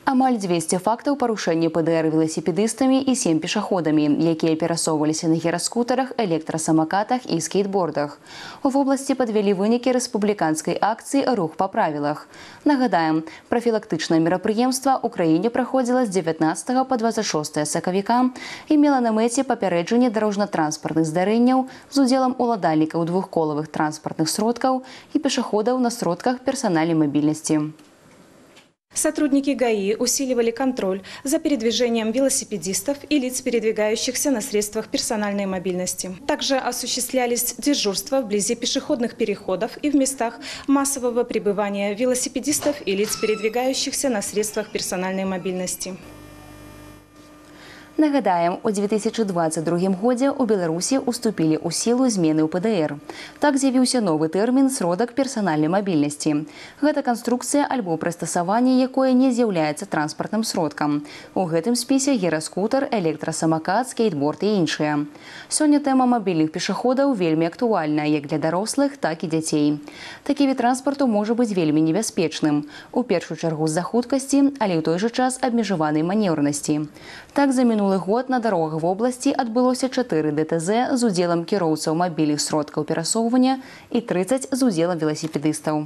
Амаль 200 фактаў парушэння ПДР веласіпедыстамі і 7 пешаходамі, якія перасоўваліся на гіраскутарах, электрасамакатах і скейтбордах. У вобласці падвялі вынікі рэспубліканскай акцыі «Рух па правілах». Нагадаем, прафілактычнае мерапрыемства ў краіне праходзіла з 19 па 26 сакавіка і мела на мэце папярэджанне дарожна-транспартных здарэнняў з удзелам уладальнікаў двухколавых транспартных сродкаў і пешаходаў на сродках персанальнай мабільнасці. Сотрудники ГАИ усиливали контроль за передвижением велосипедистов и лиц, передвигающихся на средствах персональной мобильности. Также осуществлялись дежурства вблизи пешеходных переходов и в местах массового пребывания велосипедистов и лиц, передвигающихся на средствах персональной мобильности. Нагадаем, у 2022 годзе ў Беларусі уступілі ў сілу змены ў ПДР. Так з'явіўся новы тэрмін «сродак персанальнай мабільнасці». Гэта канструкцыя альбо прыстасаванне, якое не з'яўляецца транспартным сродкам. У гэтым спісе гіраскутар, электрасамакат, скейтборд і іншыя. Сёння тэма мабільных пешаходаў вельмі актуальная як для дарослых, так і дзяцей. Такі від транспарту можа быць вельмі небяспечным. У першую чаргу з-за хуткасці, але ў той жа час абмежаванай манеўрнасці. Так, за минулый год на дарогах вобласці адбылося 4 ДТЗ з удзелам кіроўцаў мабільных сродкаў перасоўвання і 30 з удзелам веласіпедыстаў.